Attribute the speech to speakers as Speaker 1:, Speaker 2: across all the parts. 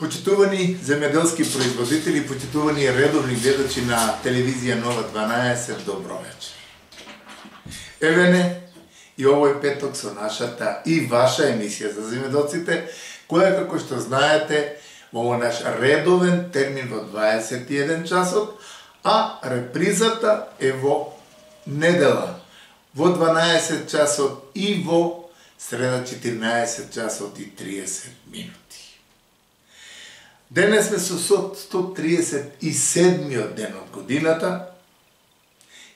Speaker 1: Почитувани земјоделски производители, почитувани редовни гледачи на телевизија Нова 12, добро вечер. Еве не, и овој петок со нашата и ваша емисија за земјоделците, која, како што знаете, во овој наш редовен термин во 21 часот, а репризата е во недела, во 12 часот и во среда 14 часот и 30 минути. Денес сме со 137-миот ден од годината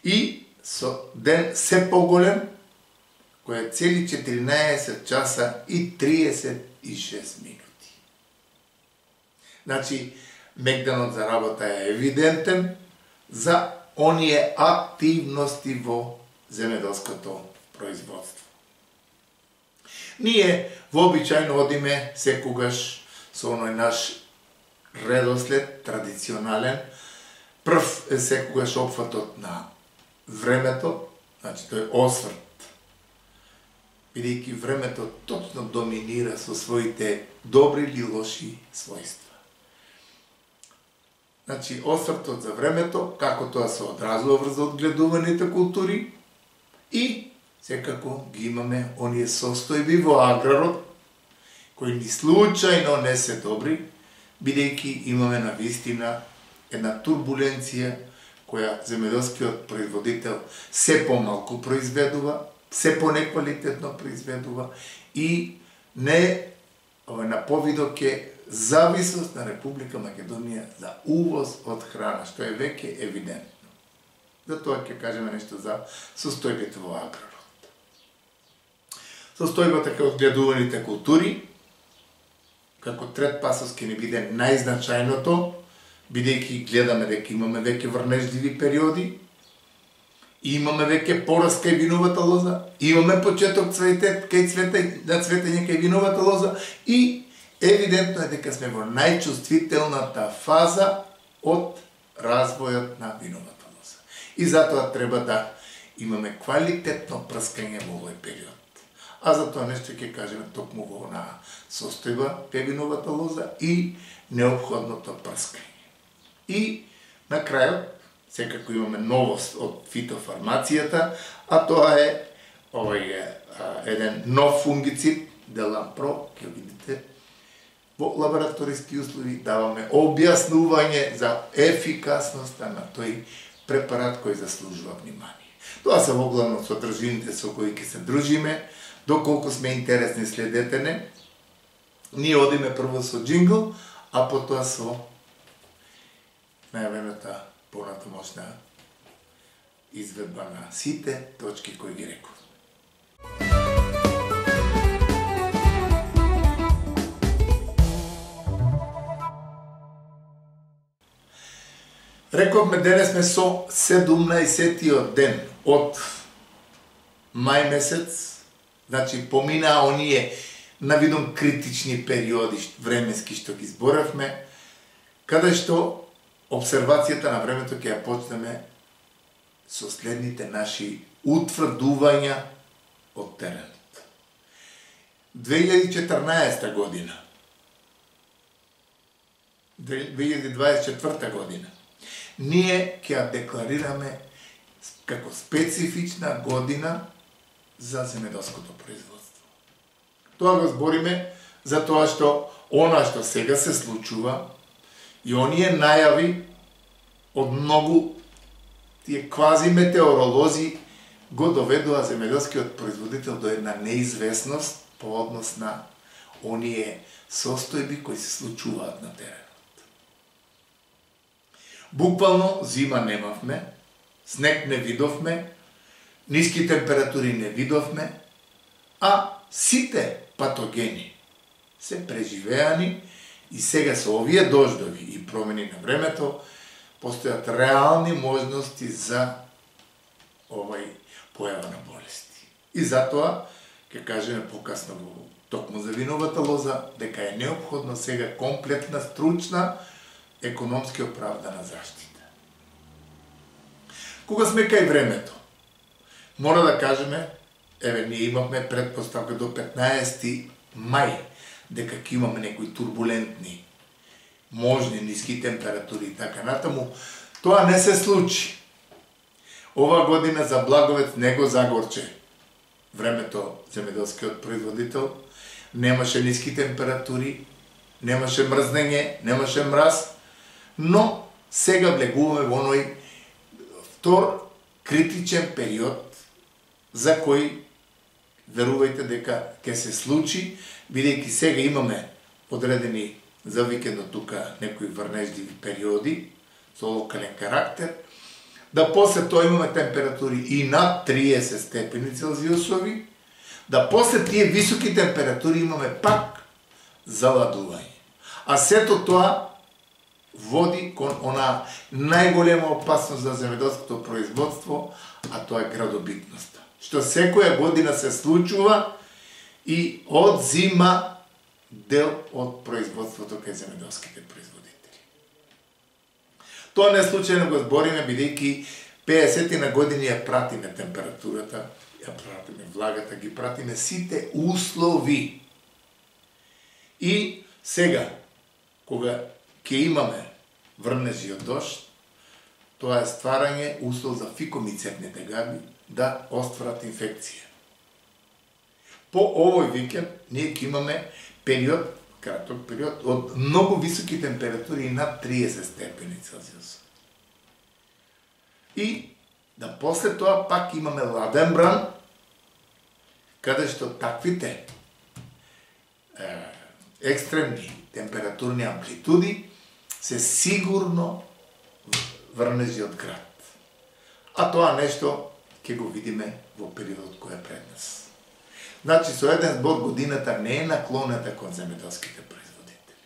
Speaker 1: и со ден се поголем, кој е цели 14 часа и 36 минути. Значи, мегданот за работа е евидентен за оние активности во земјоделското производство. Ние вообичајно одиме секогаш со оној наш редослед, традиционален. Прв е секогаш опфатот на времето, значи тој осврт, бидејќи времето точно доминира со своите добри или лоши својства. Значи, освртот за времето, како тоа се одразува врз одгледуваните култури и секако ги имаме оние состојби во аграрот, кои ни случајно не се добри, бидејќи имаме на вистина една турбуленција која земјоделскиот производител се помалку произведува, се понеквалитетно произведува и не на повидок е зависност на Република Македонија за увоз од храна, што е веќе евидентно. Затоа ќе кажеме нешто за состојбите во аграрот. Состојбата кај одгледуваните култури, како трет пасос ќе ни биде најзначајното, бидејќи гледаме дека имаме веќе врнежливи периоди, имаме веќе пораст кај виновата лоза, имаме почеток цветет кај цветење кај виновата лоза и евидентно е дека сме во најчувствителната фаза од развојот на виновата лоза. И затоа треба да имаме квалитетно прскање во овој период. А за тоа нешто ќе кажеме токму во онаа состојба кај виновата лоза и неопходното прскање. И на крајот, секако имаме новост од фитофармацијата, а тоа е еден нов фунгицид, Делампро, ќе видите, во лабораториски услови даваме објаснување за ефикасноста на тој препарат кој заслужува внимание. Тоа се воглавно содржините со кои ќе се дружиме, доколку сме интересни следете не. Ние одиме прво со джингл, а потоа со најавената понатамошна изведба на сите точки кои ги реков. Рековме, денес сме со 17-тиот ден од мај месец, значи поминаа оние навидом критични периоди временски што ги зборавме, каде што обсервацијата на времето ќе ја почнеме со следните наши утврдувања од теренот. 2014 година, 2024 година, ние ќе ја декларираме како специфична година за земјоделското производство. Тоа го збориме за тоа што она што сега се случува и оние најави од многу тие квази метеоролози го доведува земјоделскиот производител до една неизвестност по однос на оние состојби кои се случуваат на теренот. Буквално зима немавме, снег не видовме, ниски температури не видовме, а сите патогени се преживеани и сега со овие дождови и промени на времето постојат реални можности за овај појава на болести. И затоа ќе кажеме покасно во токму за виновата лоза дека е неопходно сега комплетна, стручна, економски оправдана заштита. Кога сме кај времето, мора да кажеме, еве ние имавме предпоставка до 15 мај дека ќе имаме некои турбулентни можни ниски температури и така натаму, тоа не се случи. Ова година за Благовец не го загорче времето земјоделскиот производител, немаше ниски температури, немаше мрзнење, немаше мраз, но сега влегуваме во оној втор критичен период за кој верувајте дека ќе се случи, бидејќи сега имаме одредени за викендот тука некои врнежливи периоди со локален карактер, да после тоа имаме температури и над 30 степени Целзиусови, да после тие високи температури имаме пак заладување. А сето тоа води кон она најголема опасност за земјоделското производство, а тоа е градобитноста. Што секоја година се случува и одзима дел од производството кај земјоделските производители. Тоа не случајно го збориме, бидејќи 50 на години ја пратиме температурата, ја пратиме влагата, ги пратиме сите услови. И сега, кога ќе имаме врнежи од дожд, тоа е стварање услов за фикомицетните габи да остварат инфекција. По овој викенд ние ќе имаме период, краток период, од многу високи температури и над 30 степени Целзиус. И да после тоа пак имаме ладен бран, каде што таквите екстремни температурни амплитуди се сигурно врнежи од град. А тоа нешто ќе го видиме во периодот кој е пред нас. Значи, со еден збор годината не е наклонета кон земјоделските производители.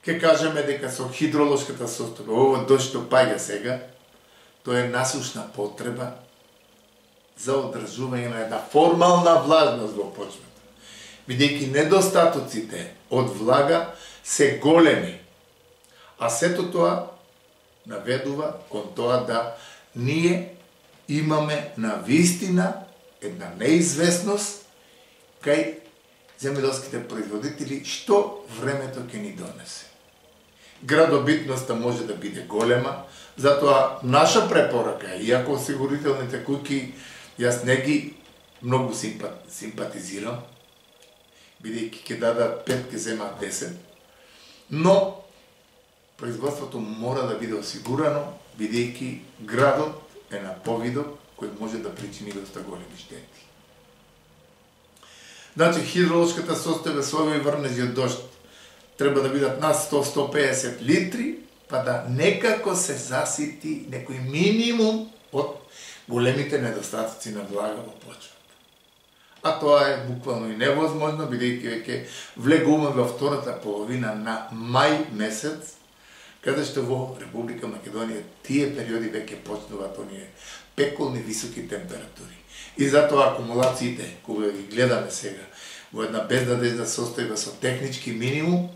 Speaker 1: Ке кажеме дека со хидролошката состојба, ово дожд што паѓа сега, тоа е насушна потреба за одржување на една формална влажност во почвата. Бидејќи недостатоците од влага се големи, а сето тоа наведува кон тоа да ние имаме на вистина една неизвестност кај земјоделските производители што времето ќе ни донесе. Градобитноста може да биде голема, затоа наша препорака, иако осигурителните куќи јас не ги многу симпатизирам, бидејќи ќе дадат 5, ќе земат 10, но производството мора да биде осигурано, бидејќи градот е на повидок кој може да причини доста големи штети. Значи, хидролошката состојба со овој врнежи од дожд треба да бидат над 100-150 литри, па да некако се засити некој минимум од големите недостатоци на влага во почвата. А тоа е буквално и невозможно, бидејќи веќе влегуваме во втората половина на мај месец, каде што во Република Македонија тие периоди веќе почнуваат оние пеколни високи температури. И затоа акумулациите, кога ги гледаме сега во една безнадежна состојба со технички минимум,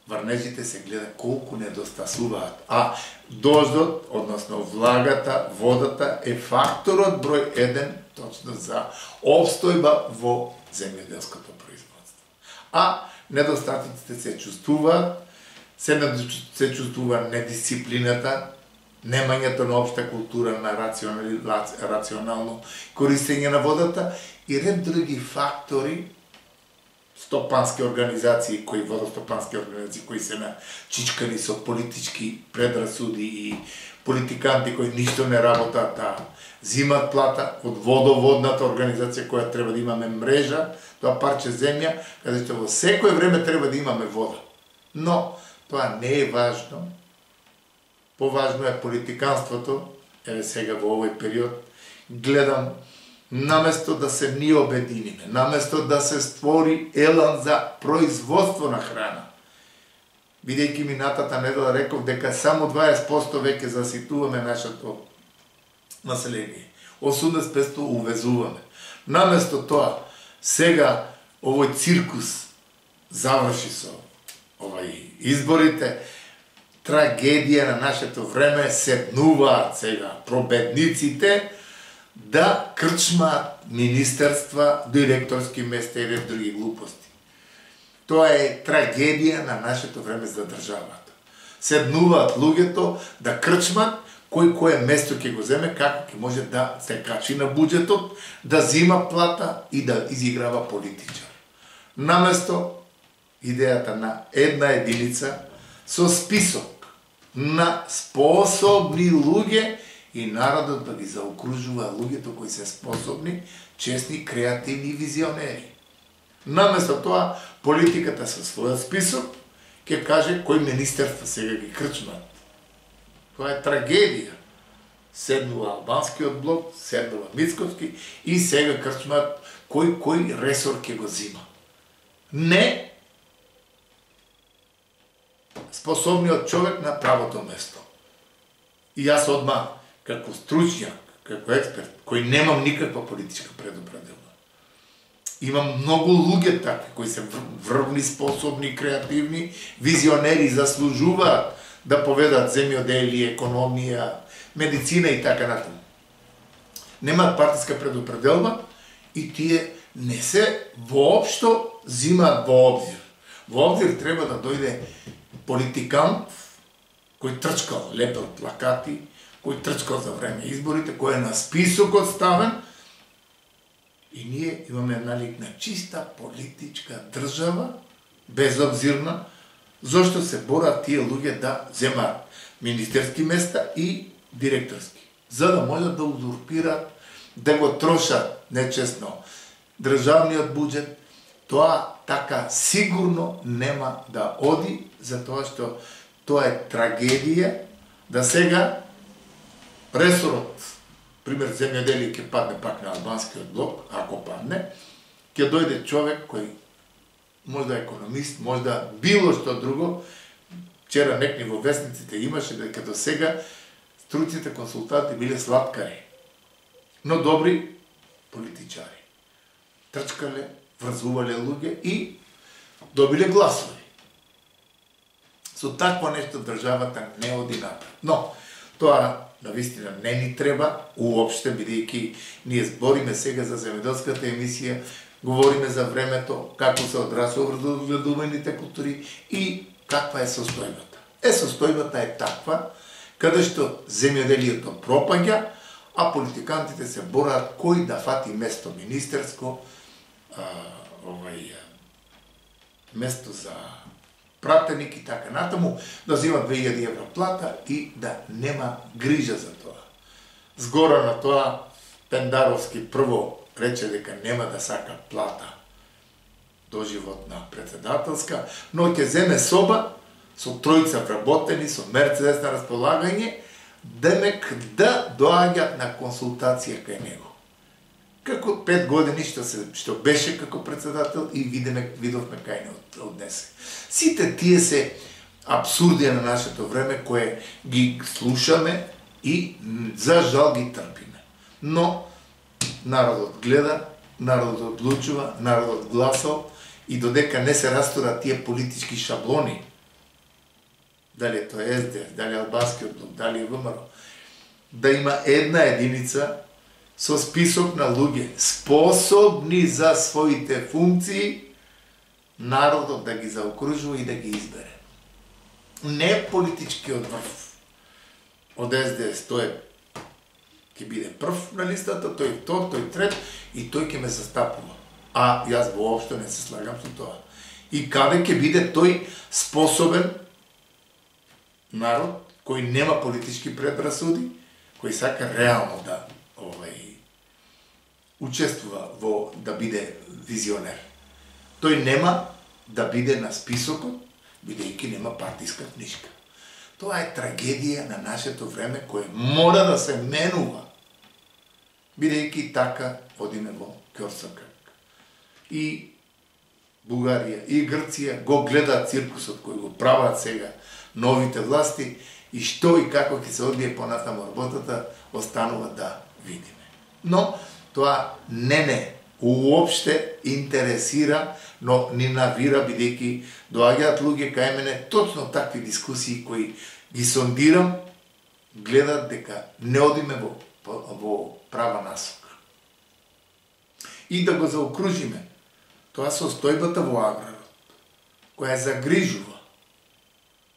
Speaker 1: врнежите се гледа колку недостасуваат. А дождот, односно влагата, водата е факторот број 1 точно за обстојба во земјоделското производство. А недостатоците се чувствуваат, се чувствува недисциплината, немањето на општа култура на рационално користење на водата и ред други фактори, стопански организации, водостопански организации кои се начичкани со политички предрасуди и политиканти кои ништо не работат, а зимат плата од водоводната организација која треба да имаме мрежа, тоа парче земја, каде што во секое време треба да имаме вода. Но тоа не е важно. Поважно е политиканството. Еве сега во овој период гледам, наместо да се ние обединиме, наместо да се створи елан за производство на храна, бидејќи минатата недела реков дека само 20% веќе заситуваме нашето население, 80% увезуваме. Наместо тоа, сега овој циркус заврши со изборите, трагедија на нашето време, седнуваат сега пробедниците да крчмаат министерства, директорски места и ред други глупости. Тоа е трагедија на нашето време за државата. Седнуваат луѓето да крчмат кој кое место ќе го земе, како ќе може да се качи на буџетот, да зима плата и да изиграва политичар. Наместо идејата на една единица со список на способни луѓе и народот да ги заокружува луѓето кои се способни, честни, креативни и визионери. Наместо тоа, политиката со својот список ќе каже кој министерства сега ги крчмат. Тоа е трагедија. Седнува албанскиот блок, седнува Мицковски и сега крчмат кој ресор ќе го зима. Не способниот човек на правото место. И јас одма, како стручњак, како експерт, кој немам никаква политичка предупредилна. Имам многу луѓе такви, кои се врвни, способни, креативни, визионери, заслужуваат да поведат земјоделие, економија, медицина и така натаму. Немаат партиска предупределба и тие не се воопшто зимаат во обзир. Во обзир треба да дојде политикант кој трчкал, лепел плакати, кој трчкал за време изборите, кој е на списокот ставен, и ние имаме налик на чиста политичка држава, безобзирна, зошто се борат тие луѓе да земаат министерски места и директорски, за да можат да узурпират, да го трошат нечесно државниот буџет. Тоа така сигурно нема да оди, затоа што тоа е трагедија, да сега ресорот, пример земјоделие ќе падне пак на албанскиот блок, ако падне, ќе дојде човек кој можда економист, можда било што друго. Вчера некни во весниците имаше дека до сега струците консултанти биле слаткари, но добри политичари. Трчкале, врзувале луѓе и добиле гласови. Со такво нешто државата не оди напред. Но тоа навистина не ни треба уопште, бидејќи ние збориме сега за земјоделската емисија, говориме за времето, како се одрасува врзуваните култури и каква е состојбата. Состојбата е таква, каде што земјоделието пропаѓа, а политикантите се борат кој да фати место министерско, место за пратеник и така натаму, да зима 2000 евро плата и да нема грижа за тоа. Згора на тоа, Пендаровски прво рече дека нема да сака плата доживотна председателска, но ќе земе соба со тројца вработени, со Мерцедес на располагање, демек да доаѓат на консултација кај него. Како 5 години што беше како председател и видовме кај не однесе. Сите тие се абсурди на нашето време кое ги слушаме и за жал ги трпиме. Но народот гледа, народот одлучува, народот гласал и додека не се растурат тие политички шаблони, дали е тоа СДС, дали е албанскиот блок, дали е ВМРО, да има една единица со список на луѓе способни за своите функции, народот да ги заокружува и да ги избере. Не политичкиот врв од СДС, тој ќе биде прв на листата, тој втор, тој трет и тој ќе ме застапува. А јас воопшто не се слагам со тоа. И каде ќе биде тој способен народ кој нема политички предрасуди, кој сака реално да учествува во да биде визионер. Тој нема да биде на списокот, бидејќи нема партиска книжка. Тоа е трагедија на нашето време кое мора да се менува, бидејќи така одиме во ќорсокрак. И Бугарија и Грција го гледаат циркусот кој го прават сега новите власти и што и како ќе се одвие понатаму работата, останува да видиме. Но тоа не уопште интересира, но ни навира, бидејќи доаѓаат луѓе кај мене точно такви дискусии кои ги сондирам, гледат дека не одиме во права насока. И да го заокружиме, тоа состојбата во аграрот, која загрижува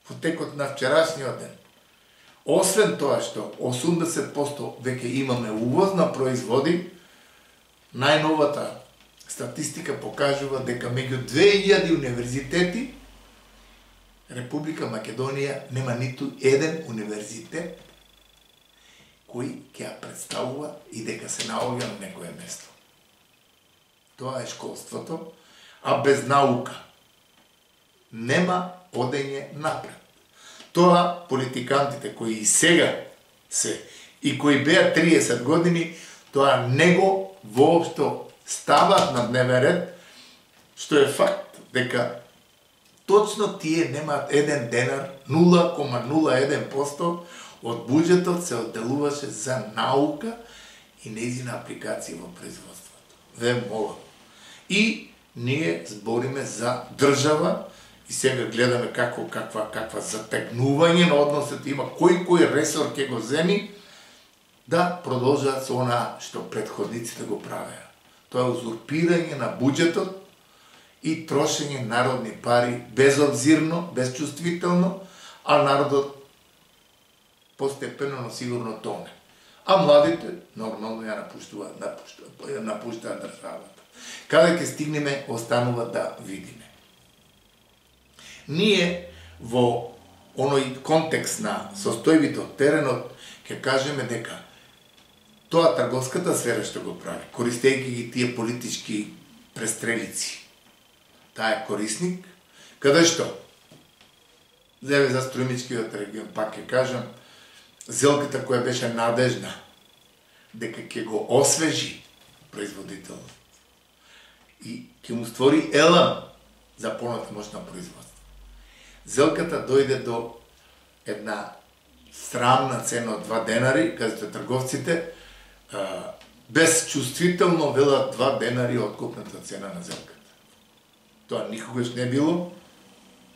Speaker 1: во текот на вчерашниот ден. Освен тоа што 80% веќе имаме увоз на производи, најновата статистика покажува дека меѓу 2000 универзитети Република Македонија нема ниту еден универзитет кој ќе ја представува и дека се наоѓа на некое место. Тоа е школството, а без наука нема одење напред. Тоа политикантите кои и сега се и кои беа 30 години, тоа него воопшто стават на дневен ред, што е факт дека точно тие немаат еден денар, 0,01% од буџетот се одделуваше за наука и нејзина апликација во производството. Ве молам. И ние збориме за држава и сега гледаме каква затегнување на односот има, кој ресор ќе го земи, да продолжат со она што претходниците го правеа. Тоа е узурпирање на буџетот и трошење народни пари безобзирно, безчувствително, а народот постепено, но сигурно тоне. А младите нормално ја напуштаат државата. Каде ќе стигнеме, останува да видиме. Ние во оној контекст на состојбите од теренот ќе кажеме дека тоа трговската сфера што го прави, користејќи ги тие политички престрелици, таа е корисник, каде што зеве за Струјмичкиот регион, пак ќе кажам, зелката која беше надежна дека ќе го освежи производителот и ќе му створи елан за понатамошно производство. Зелката дојде до една срамна цена од 2 денари, каде трговците безчувствително велат 2 денари откупната цена на зелката. Тоа никогаш не било,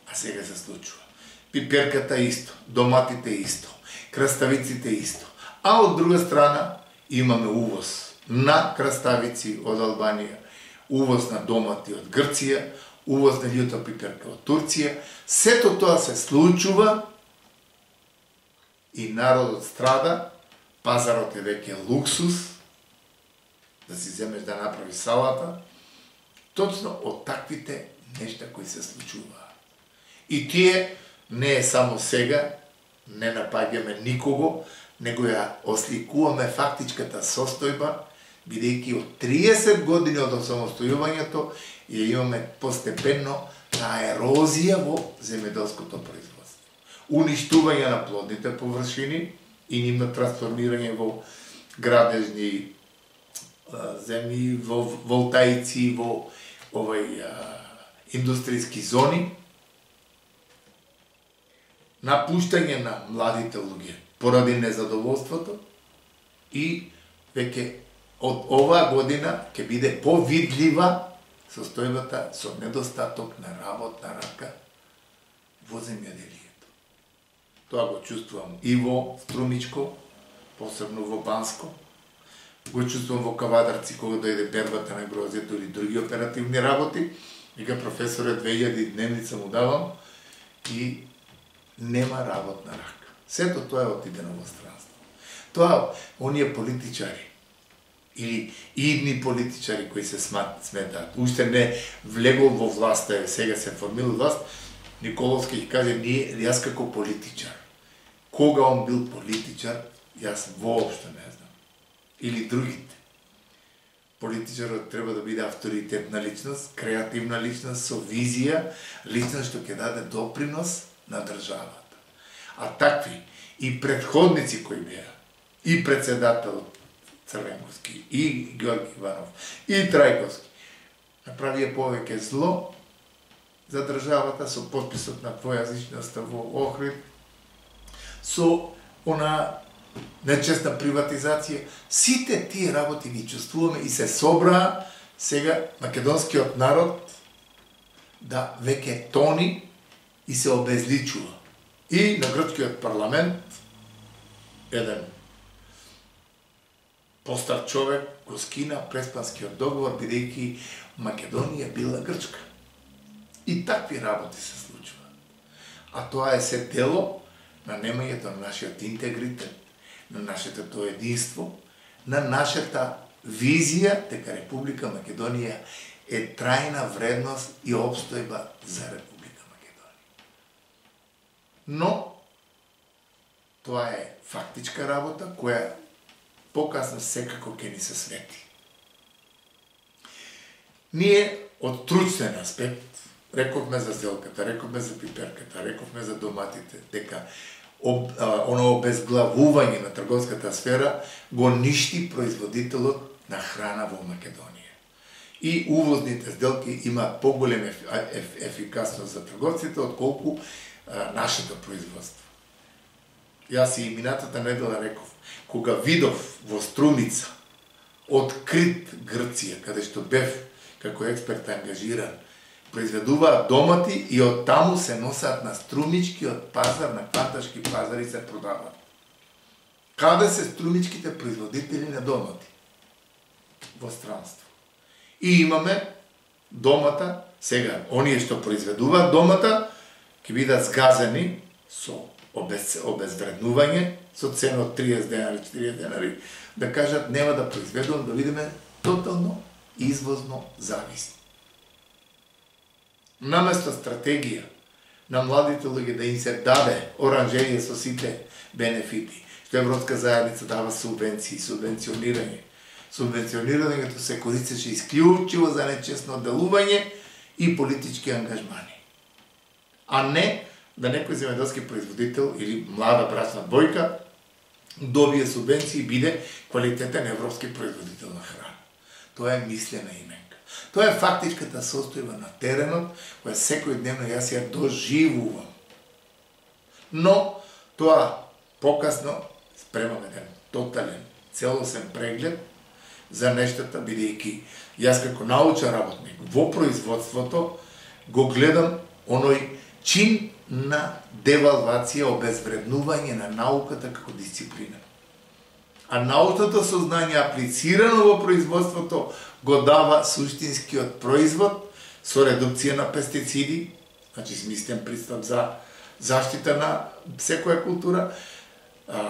Speaker 1: а сега се случува. Пиперката исто, доматите исто, краставиците исто. А од друга страна имаме увоз на краставици од Албанија, увоз на домати од Грција, увоз на љута пиперка од Турција. Сето тоа се случува и народот страда, пазарот е веќе луксус, да си земеш да направи салата, точно од таквите нешта кои се случуваат. И тие не е само сега, не напаѓаме никого, него ја осликуваме фактичката состојба, бидејќи од 30 години од осамостојувањето ја имаме постепенно таа ерозија во земјоделското производство. Уништување на плодните површини и нивно трансформирање во градежни земји, во волтаици, во индустријски зони, напуштање на младите луѓе поради незадоволството и веќе од оваа година ќе биде повидлива состојбата со недостаток на работна рака во земјоделието. Тоа го чувствувам и во Струмичко, посебно во Банско, го чувствувам во Кавадарци кога дојде бербата на грозјето или други оперативни работи, вика професорот 2000 дневница му давам и нема работна рака. Сето тоа е отидено во странство. Тоа, оние политичари, или идни политичари кои се сметаат, уште не влегол во власта, сега се формира власт, Николовски ќе каже, јас како политичар. Кога он бил политичар, јас воопшто не знам. Или другите. Политичарот треба да биде авторитетна личност, креативна личност, со визија, личност што ќе даде допринос на државата. А такви и предходници кои беа, и председателот Црвенковски, и Георги Иванов, и Трајковски, направија повеќе зло за државата со подписот на двојазичноста во Охрид, со она нечестна приватизација. Сите тие работи ги чувствуваме и се собраа сега македонскиот народ да веќе тони и се обезличува. И на грчкиот парламент еден постар човек го скина Преспанскиот договор, бидејќи Македонија била Грчка. И такви работи се случуваат. А тоа е се дело на немањето на нашиот интегритет, на нашето единство, на нашата визија дека Република Македонија е трајна вредност и обстојба за Република Македонија. Но тоа е фактичка работа која покасно секако ќе ни се свети. Ние од тручен аспект рековме за зелката, рековме за пиперката, рековме за доматите, дека оно обезглавување на трговската сфера го ништи производителот на храна во Македонија. И увозните сделки имаат поголема ефикасност за трговците отколку нашето производство. Јас и минатата недела реков, кога видов во Струмица открит Грција, каде што бев како експерт ангажиран, произведуваат домати и од таму се носат на струмичкиот пазар, на кванташки пазари се продаваат. Каде се струмичките производители на домати? Во странство. И имаме домата, сега, оние што произведуваат домата, ќе бидат згазени со обезвреднување, со цена од 30 денари, 40 денари, да кажат нема да произведувам, да видиме тотално извозно зависни. Наместо стратегија на младите луѓе да им се даде оранжерија со сите бенефити, што Европска заедница дава субвенции, субвенционирање. Субвенционирањето се користеше исклучиво за нечестно делување и политички ангажмани. А не да некој земјоделски производител или млада брачна двојка добие субвенции и биде квалитетен европски производител на храна. Тоа е мислена именка. Тоа е фактичката состојба на теренот, која секојдневно јас ја доживувам. Но тоа покасно спремаме еден тотален, целосен преглед за нештата, бидејќи јас како научен работник во производството го гледам оној чин на девалвација, обезвреднување на науката како дисциплина. А научното сознање аплицирано во производството го дава суштинскиот производ со редукција на пестициди, значи смислен пристап за заштита на секоја култура,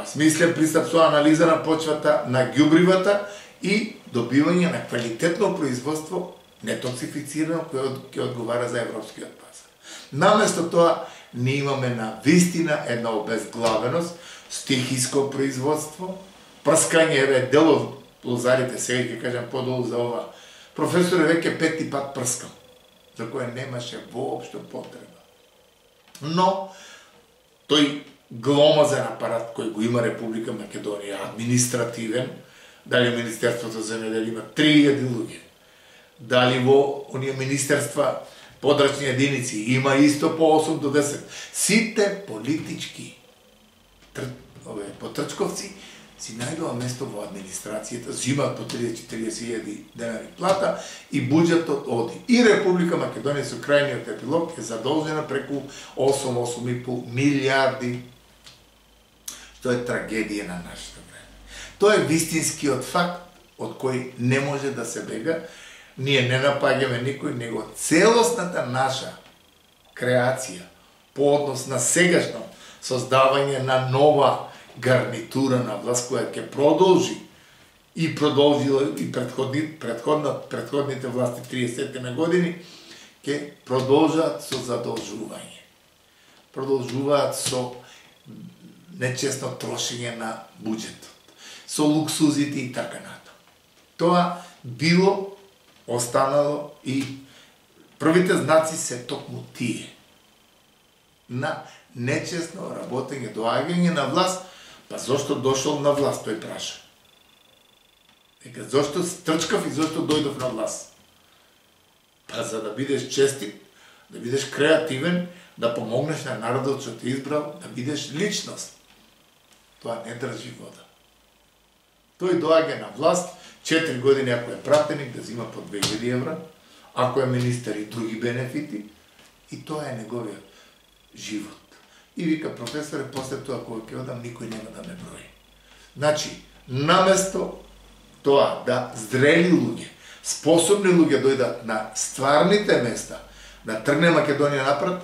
Speaker 1: смислен пристап со анализа на почвата, на ѓубривата и добивање на квалитетно производство нетоксифицирано кој ќе одговара за европскиот пазар. Наместо тоа, ние имаме на вистина една обезглавеност, стихиско производство, прскање, еве, дел од лозарите, сега ќе кажам подолу за ова. Професор е веќе 5 пат прскал, за која немаше воопшто потреба. Но, тој гломазен апарат кој го има Република Македонија, административен, дали Министерството за земјоделие има 3000 луѓе, дали во оние министерства подрачни единици има исто по 8 до 10. Сите политички потрчковци си најдува место во администрацијата, зимаат по 30-40 денари плата и буџетот оди. И Република Македонија со крајниот епилог е задолжена преку 8,5 милиарди, што е трагедија на нашето време. Тоа е вистинскиот факт од кој не може да се бега. Ние не напаѓаме никој, него целосната наша креација по однос на сегашно создавање на нова гарнитура на власт која ќе продолжи и продолжила и предходните власти 30 години ќе продолжат со задолжување. Продолжуваат со нечестно трошење на буџетот, со луксузите и така натаму. Тоа било, останало и првите знаци се токму тие на нечестно работење, доаѓање на власт. Па зошто дошол на власт, тој праша. Дека зошто трчкав и зошто дојдов на власт? Па за да бидеш честит, да бидеш креативен, да помогнеш на народот што те избрал, да бидеш личност. Тоа не држи вода. Тој доаѓа на власт, 4 години ако е пратеник да зима по 2000 евра, ако е министер и други бенефити, и тоа е неговиот живот. И вика професоре, после тоа кога ќе одам, никој нема да ме брои. Значи, наместо тоа да зрели луѓе, способни луѓе дојдат на стварните места, да тргне Македонија напред,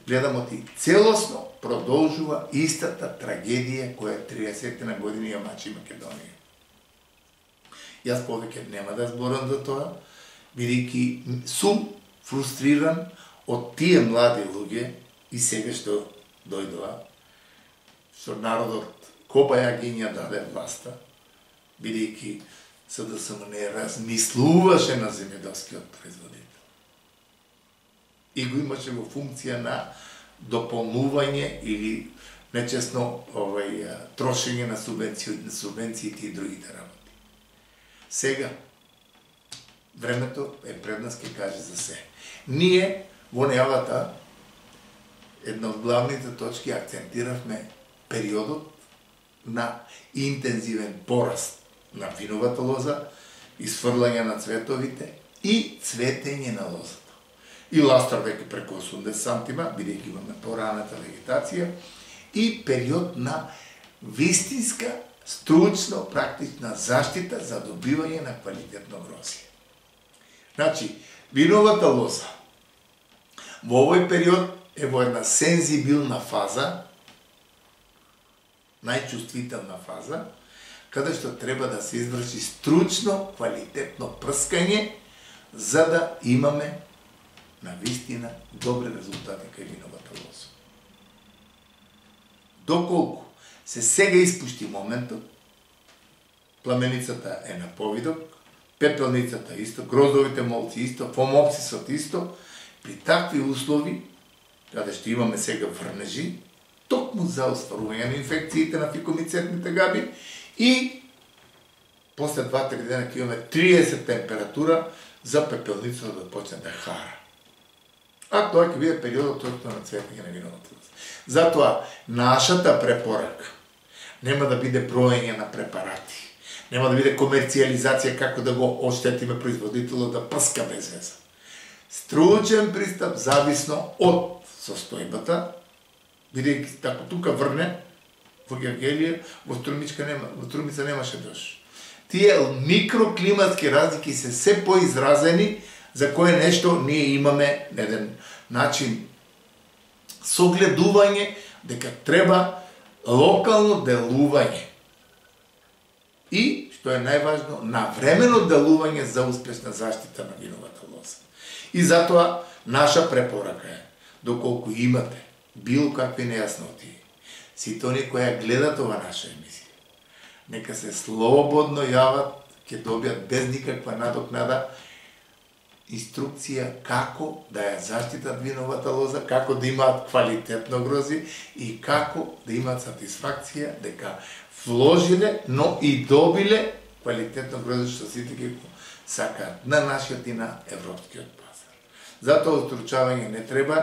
Speaker 1: гледаме ти целосно продолжува истата трагедија која 30 години ја мачи Македонија. Јас повеќе нема да зборам за тоа, бидејќи сум фрустриран од тие млади луѓе и сега што дојдоа, што народот кобаја ги ја даде власта, бидејќи СДСМ не размислуваше на земјоделскиот производител. И го имаше во функција на дополнување или нечесно трошење на субвенциите и другите работи. Сега, времето е пред нас, ќе каже за се. Ние во најавата, една од главните точки, акцентиравме периодот на интензивен пораст на виновата лоза, изфрлање на цветовите и цветење на лозата. И ластар веќе преку 80 сантима, бидејќи имаме пораната вегетација, и период на вистинска, стручно, практична заштита за добивање на квалитетно грозје. Значи, виновата лоза во овој период е во една сензибилна фаза, најчувствителна фаза, каде што треба да се изврши стручно, квалитетно прскање, за да имаме на вистина добри резултати кај виновата лоза. Доколку се сега испушти моментот, пламеницата е на повидок, пепелницата исто, гроздовите молци исто, фомопсисот исто, при такви услови, каде што имаме сега врнежи, токму за остварување на инфекциите на фикомицетните габи и после 2-3 дена ќе имаме 30 температура за пепелницата да почне да хара. А тоа ќе биде периодот на цветење на виновата лоза. Затоа, нашата препорака нема да биде броење на препарати, нема да биде комерцијализација како да го оштетиме производителот да прска без веза. Стручен пристап зависно од состојбата, бидејќи тако тука врне, во Гевгелија, во Струмица немаше дожд. Тие микроклиматски разлики се се поизразени, за кое нешто ние имаме еден начин согледување дека треба локално делување. И, што е најважно, навремено делување за успешна заштита на виновата лоза. И затоа, наша препорака е, доколку имате било какви нејасноти, сите оние кои гледат ова наша емисија, нека се слободно јават, ќе добијат без никаква надокнада инструкција како да ја заштитат виновата лоза, како да имаат квалитетно грозје и како да имаат сатисфакција дека вложиле, но и добиле квалитетно грозје што сите ги сакаат на нашиот и на европскиот пазар. Затоа устручавање не треба.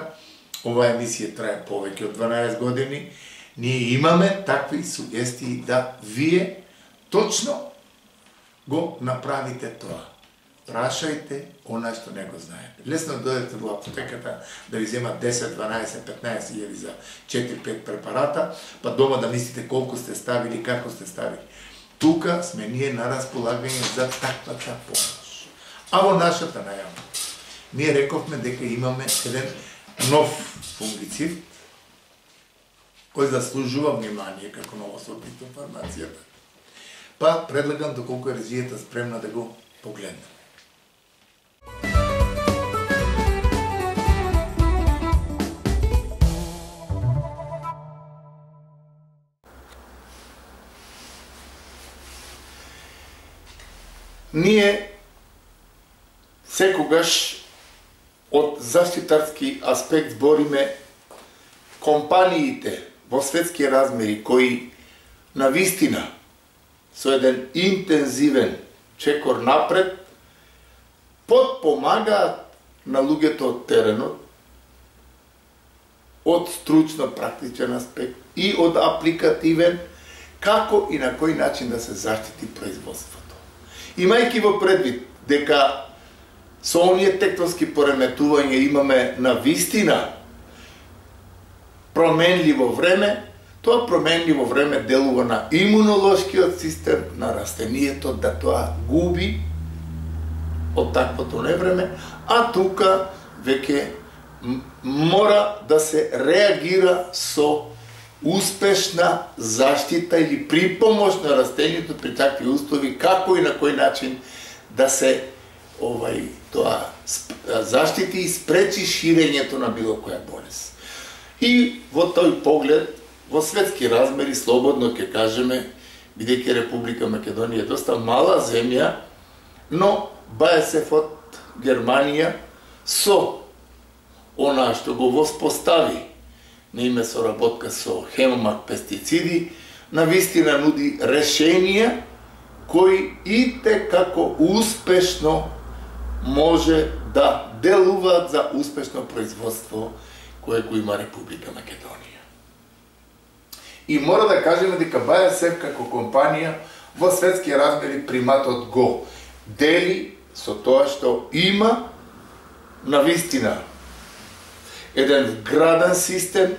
Speaker 1: Ова емисија трае повеќе од 12 години. Ние имаме такви сугестии да вие точно го направите тоа. Прашајте она што не го знаете. Лесно дојдете во аптеката да ви земат 10, 12, 15 илјади за 4-5 препарата, па дома да мислите колку сте ставили, како сте ставили. Тука сме ние на располагање за таквата помош. А во нашата најава, ние рековме дека имаме еден нов фунгицид, кој заслужува внимание како новосорбитна информацијата. Па предлагам доколку е режијата спремна да го погледнем. Ние секогаш од заштитарски аспект збориме компаниите во светски размери кои на вистина со еден интензивен чекор напред подпомагаат на луѓето од теренот од стручно практичен аспект и од апликативен како и на кој начин да се заштити производството. Имајќи во предвид дека со оние тектонски пореметувања имаме на вистина променливо време, тоа променливо време делува на имунолошкиот систем, на растението да тоа губи од таквото невреме, а тука веќе мора да се реагира со успешна заштита или припомош на растението при такви услови, како и на кој начин да се тоа заштити и спречи ширењето на било која болест. И во тој поглед, во светски размери, слободно ќе кажеме, бидејќи Република Македонија е доста мала земја, но БАЕСЕФ од Германија со она што го воспостави на име соработка со Хемомак пестициди, навистина нуди решенија кои итекако успешно може да делуваат за успешно производство кое го има Република Македонија. И мора да кажеме дека БАЕСЕФ како компанија во светски размери приматот го дели со тоа што има навистина еден вграден систем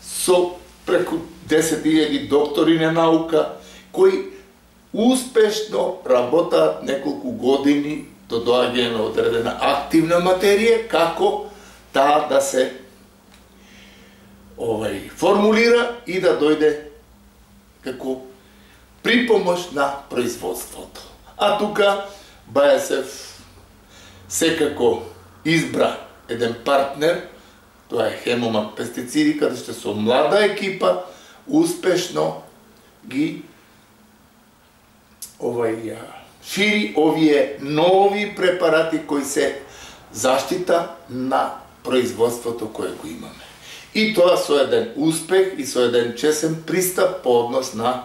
Speaker 1: со преку 10.000 доктори на наука кои успешно работаат неколку години до доаѓање на одредена активна материја, како таа да се формулира и да дојде како припомош на производството. А тука БАЕСЕФ секако избра еден партнер, тоа е Хемомак пестициди, каде што со млада екипа успешно ги шири овие нови препарати кои се заштита на производството кое го имаме. И тоа со еден успех и со еден чесен пристап по однос на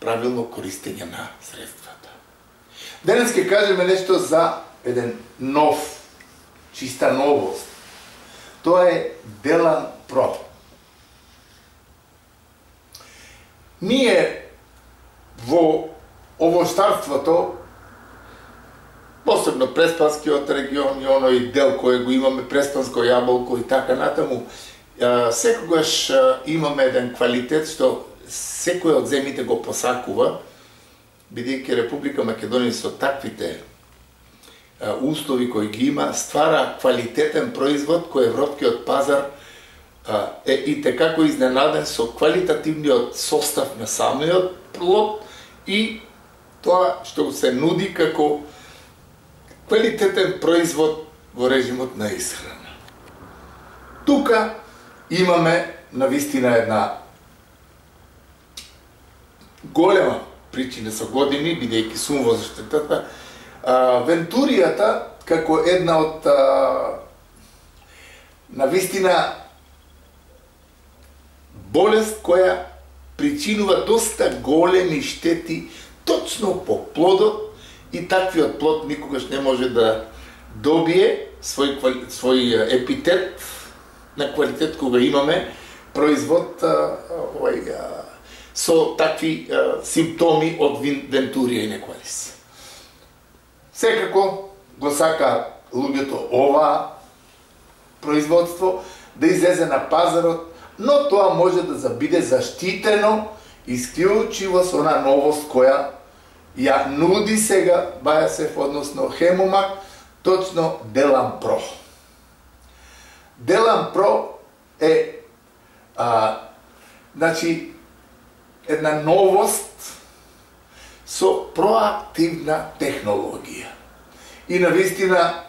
Speaker 1: правилно користење на средствата. Денес ќе кажеме нешто за еден нов, чиста новост. Тоа е Делан Про. Ние во овощарството, посебно Преспанскиот регион и оној дел кој го имаме, Преспанско јаболко и така натаму, секогаш имаме еден квалитет што секој од земите го посакува, бидејќи Република Македонија со таквите услови кои ги има, ствара квалитетен производ кој европскиот пазар е итекако изненаден со квалитативниот состав на самиот плод и тоа што се нуди како квалитетен производ во режимот на исхрана. Тука имаме навистина една голема причина со години, бидејќи сум во заштитата, вентуријата како една од навистина болест која причинува доста големи штети точно по плодот и таквиот плод никогаш не може да добие свој епитет на квалитет кога имаме производ со такви симптоми од вентурија и неквалис. Секако го сака луѓето ова производство да излезе на пазарот, но тоа може да биде заштитено исклучиво со она новост која ја нуди сега БАЕСЕФ, односно Хемомак, точно Делан Про. Делан Про е една новост со проактивна технологија. И навистина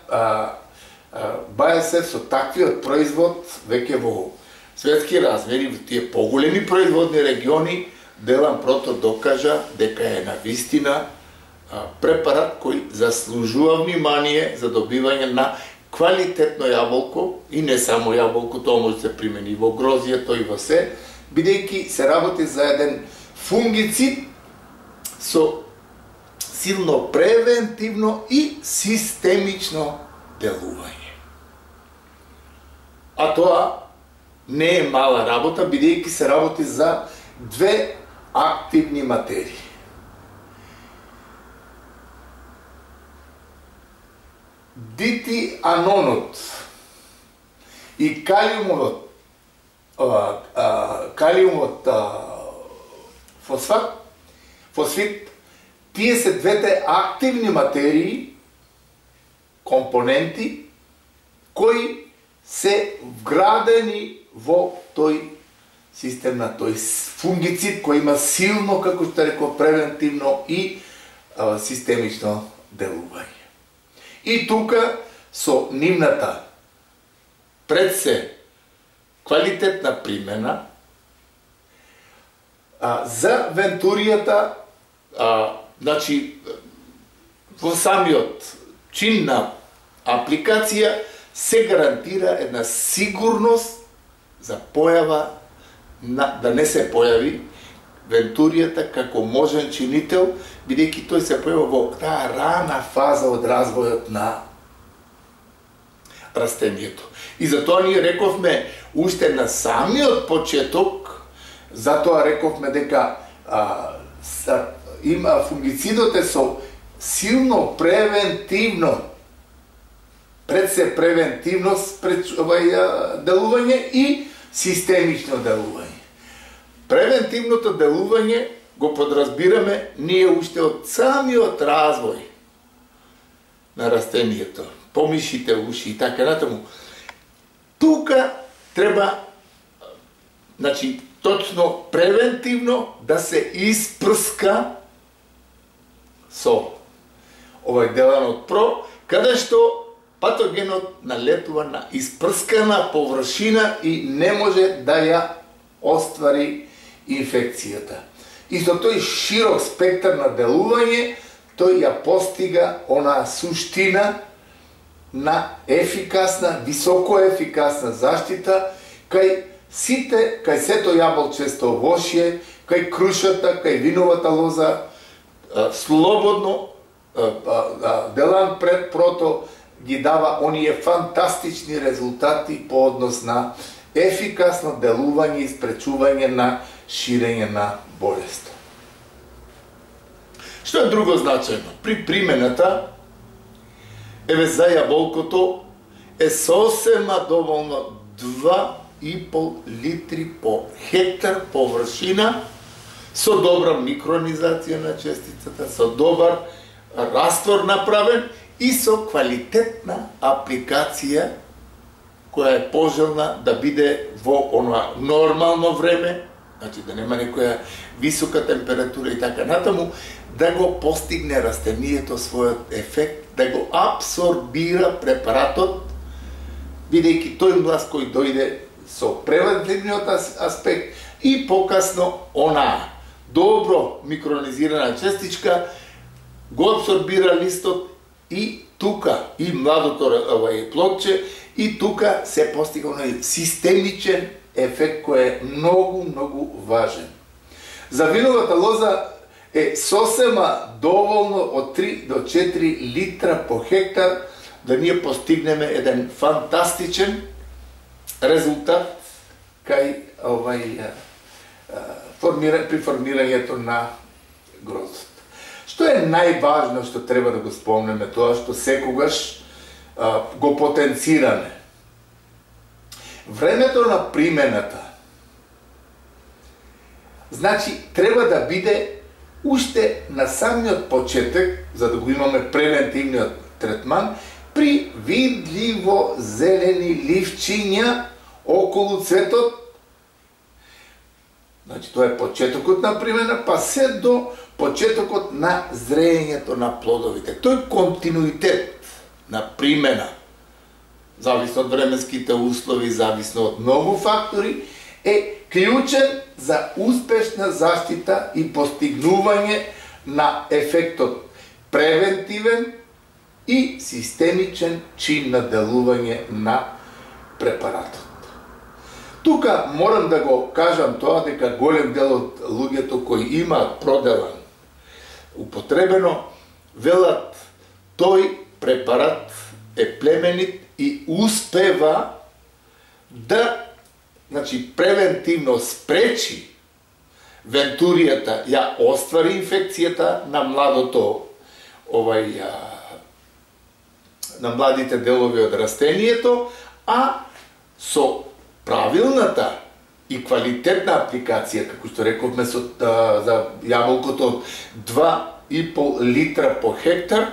Speaker 1: БАЕСЕФ со таквиот производ веќе во светски размери, во тие поголеми производни региони, Делан Прото докажа дека е навистина препарат кој заслужува внимание за добивање на квалитетно јаболко и не само јаболко, тоа може да се примени во грозието и во се, бидејќи се работи за еден фунгицид со силно превентивно и системично делување. А тоа не е мала работа, бидејќи се работи за две активни материи. Дитианонот и калиумот фосфит, тие се двете активни материи, компоненти, кои се вградени во тој систем на тој фунгицид кој има силно, како што реков, превентивно и системично делување. И тука со нивната пред се квалитетна примена за вентуријата, значи во самиот чин на апликација се гарантира една сигурност за појава да не се појави вентуријата како можен чинител, бидејќи тој се појава во таа рана фаза од развојот на растението. И затоа ние рековме уште на самиот почеток, затоа рековме дека има фунгицидот е со силно превентивно, пред се превентивно делување и системично делување. Превентивното делување го подразбираме ние уште од самиот развој на растението, помишите, уши и така натаму. Тука треба, значи, точно превентивно да се испрска со овој деланот ПРО, каде што патогенот налетува на испрскана површина и не може да ја оствари инфекцијата. И со тој широк спектар на делување, тој ја постига онаа суштина на ефикасна, високо ефикасна заштита кај сето јаболчесто овошје, кај крушата, кај виновата лоза, слободно делан пред прото ги дава оние фантастични резултати по однос на ефикасно делување и спречување на ширење на болест. Што е друго значајно? При примената, за јаболкото е сосема доволно 2,5 литри по хектар површина со добра микронизација на честицата, со добар раствор направен и со квалитетна апликација која е пожелна да биде во она нормално време, значи да нема некоја висока температура и така натаму, да го постигне растението својот ефект, да го абсорбира препаратот, бидејќи тој млаз кој дојде со превентивниот аспект и покасно она добро микронизирана честичка го абсорбира листот и тука и младото плодче и тука се постига оној системичен ефект кој е многу важен. За виновата лоза е сосема доволно од 3 до 4 литра по хектар да ние постигнеме еден фантастичен резултат кај при формирањето на гроздот. Што е најважно што треба да го спомнеме, тоа што секогаш го потенцираме? Времето на примената, значи, треба да биде уште на самиот почеток, за да го имаме превентивниот третман, при видливо зелени ливчиња околу цветот. Значи, тоа е почетокот на примена, па се до почетокот на зреењето на плодовите. Тој континуитет на примена, зависно од временските услови, зависно од многу фактори, е клучен за успешна заштита и постигнување на ефектот превентивен и системичен чин на делување на препаратот. Тука морам да го кажам тоа дека голем дел од луѓето кои имаат проделан употребено велат тој препарат е племенит и успева да, значи, превентивно спречи вентуријата ја оствари инфекцијата на младото на младите делови од растението, а со правилната и квалитетна апликација, како што рековме за јаболкото 2,5 литра по хектар,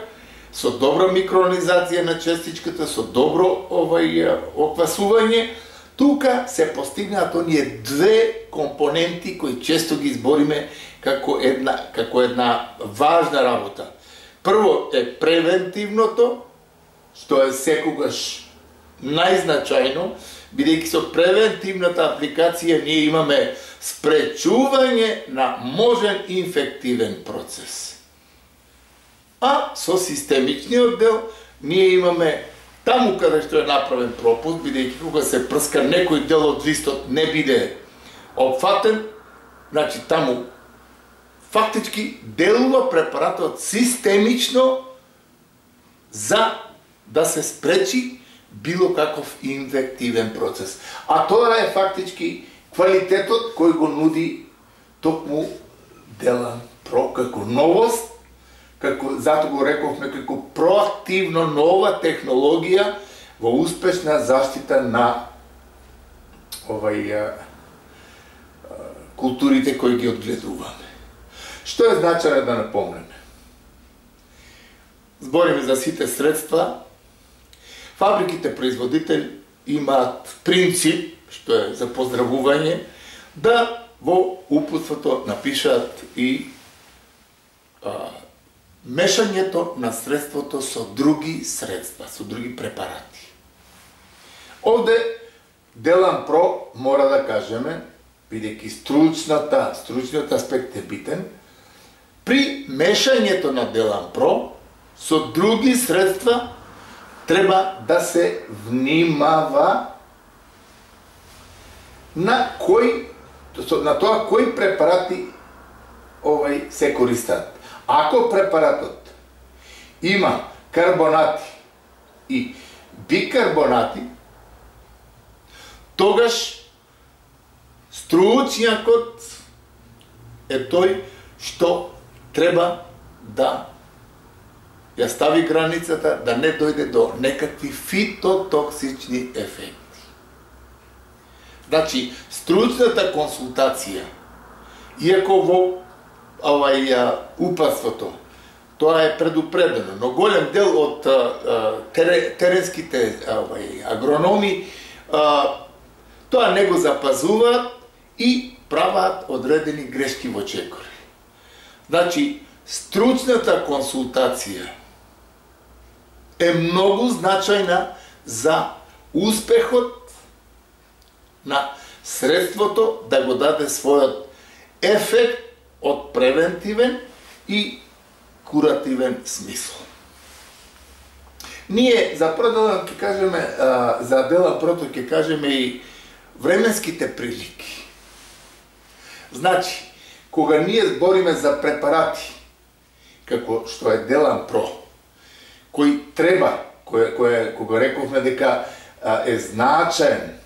Speaker 1: со добра микронизација на честичката, со добро оквасување, тука се постигнаат оние две компоненти кои често ги избориме како една важна работа. Прво е превентивното, што е секогаш најзначајно, бидејќи со превентивната апликација ние имаме спречување на можен инфективен процес. А со системичниот дел ние имаме таму каде што е направен пропуст, бидејќи кога се прска некој дел од листот не биде опфатен, значи таму фактички делува препаратот системично за да се спречи било каков инфективен процес. А тоа е фактички квалитетот кој го нуди токму Делан Про како новост, зато го рековме како проактивно нова технологија во успешна заштита на културите кои ги одгледуваме. Што е значање да напомнеме? Збориме за сите средства. Фабриките производители имаат принцип, што е за поздравување, да во упутството напишаат и мешањето на средството со други средства, со други препарати. Овде Делан Про мора да кажеме, бидејќи стручниот аспект е битен, при мешањето на Делан Про со други средства треба да се внимава на тоа кои препарати се користат. Ако препаратот има карбонати и бикарбонати, тогаш стручњакот е тој што треба да ја стави границата да не дојде до некакви фитотоксични ефекти. Значи, стручната консултација, иако во упатството тоа е предупредено, но голем дел од теренските агрономи тоа не го запазуваат и прават одредени грешки во чекори. Значи, стручната консултација е многу значајна за успехот на средството да го даде својот ефект од превентивен и куративен смисол. Ние за Делан ќе кажеме, за Делан Прото ќе кажеме и временските прилики. Значи, кога ние збориме за препарати, како што е Делан Про, кој треба, кога рековме дека е значаен,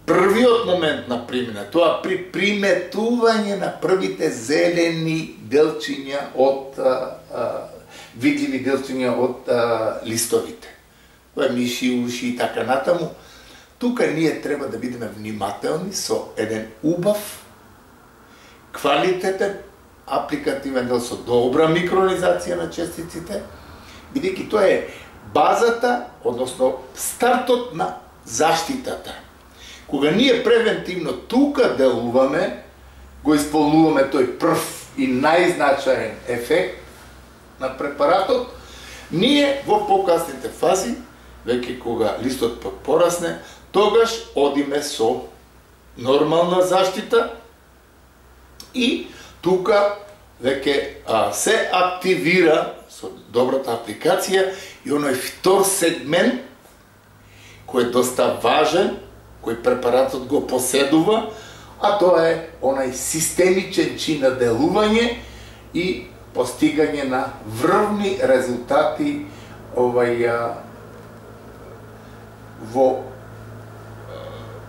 Speaker 1: првиот момент на примена, тоа при приметување на првите зелени делчиња од видливи делчиња од листовите. Тоа е миши, уши и така натаму. Тука ние треба да бидеме внимателни со еден убав, квалитетен, апликативен дел со добра микронизација на честиците, бидејќи тоа е базата, односно стартот на заштитата. Кога ние превентивно тука делуваме, го исполнуваме тој прв и најзначаен ефект на препаратот, ние во покасните фази, веќе кога листот порасне, тогаш одиме со нормална заштита и тука веќе се активира со добрата апликација и оној втор сегмент кој е доста важен, кој препаратот го поседува, а тоа е онај системичен чин на делување и постигање на врвни резултати во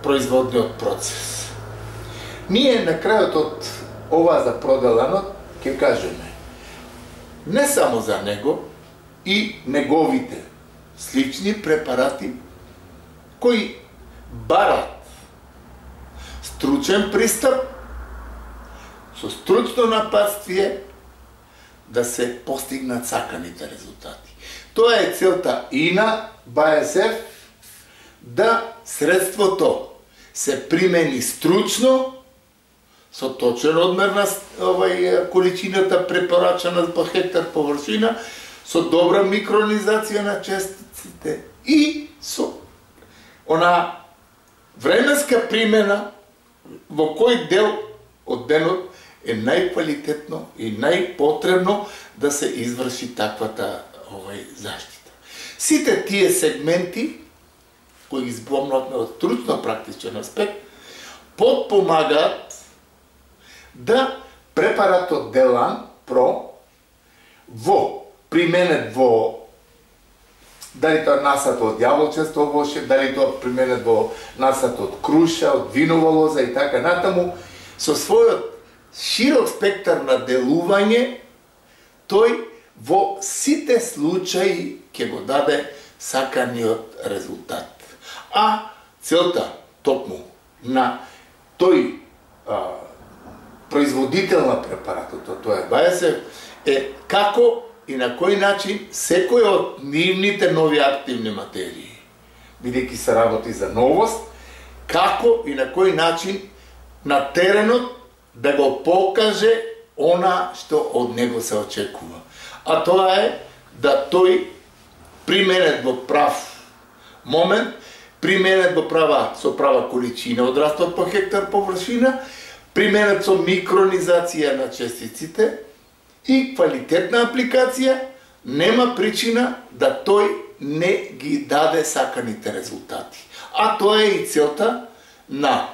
Speaker 1: производниот процес. Ние на крајот од ова за проделанот ќе кажеме не само за него и неговите слични препарати кои барат стручен пристап со стручно напатствие да се постигнат саканите резултати. Тоа е целта и на БАСФ, да средството се примени стручно, со точен одмер на количината препорачана по хектар површина, со добра микронизација на честиците и со она временска примена во кој дел од денот е најквалитетно и најпотребно да се изврши таквата заштита. Сите тие сегменти кои ги збомнавме од стручно-практичен аспект подпомагаат да препаратот Делан Про применет во дали тоа насато од јаболчесто воше, дали тоа применет во насато од круша, од винова лоза и така натаму, со својот широк спектар на делување, тој во сите случаи ќе го даде саканиот резултат. А целта токму на тој производител на препаратот, тоа е БАСФ, е како и на кој начин секој од нивните нови активни материи, бидејќи се работи за новост, како и на кој начин на теренот да го покаже она што од него се очекува. А тоа е да тој применет во прав момент, применет во со права количина од раствор по хектар површина, применет со микронизација на честиците и квалитетна апликација, нема причина да тој не ги даде саканите резултати. А тоа е и целта на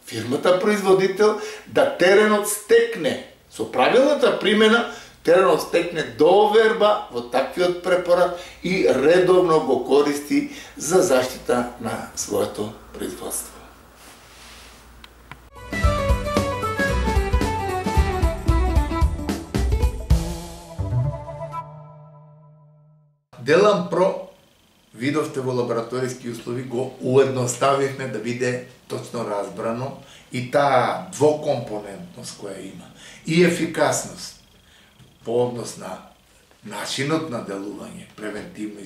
Speaker 1: фирмата производител, да теренот стекне, со правилната примена, теренот стекне доверба во таквиот препарат и редовно го користи за заштита на своето производство. Делан Про, видовте во лабораториски услови, го уедноставивме да биде точно разбрано и таа двокомпонентност која има. И ефикасност по однос на начинот на делување, превентивно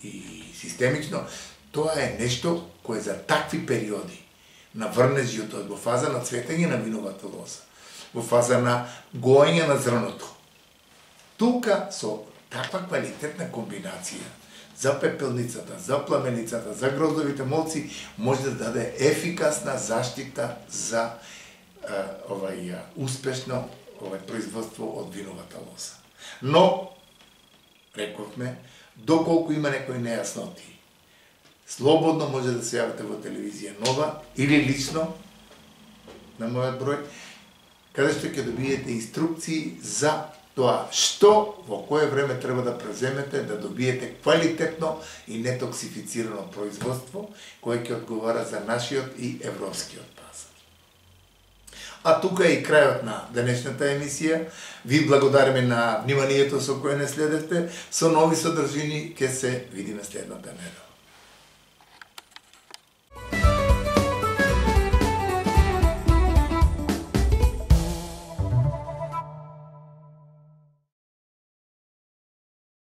Speaker 1: и системично, тоа е нешто кое за такви периоди на врнежјето во фаза на цветење на виновата лоза, во фаза на гоење на зрното. Тука со таква квалитетна комбинација за пепелницата, за пламеницата, за гроздовите молци може да даде ефикасна заштита за успешно производство од виновата лоза. Но, рековме, доколку има некои нејасноти, слободно може да се јавите во телевизија Нова или лично на мојот број, каде што ќе добиете инструкции за тоа што во кое време треба да преземете да добиете квалитетно и нетоксифицирано производство кое ќе одговара за нашиот и европскиот пазар. А тука е и крајот на денешната емисија. Ви благодариме на вниманието со кое не следевте. Со нови содржини ќе се видиме следната недела.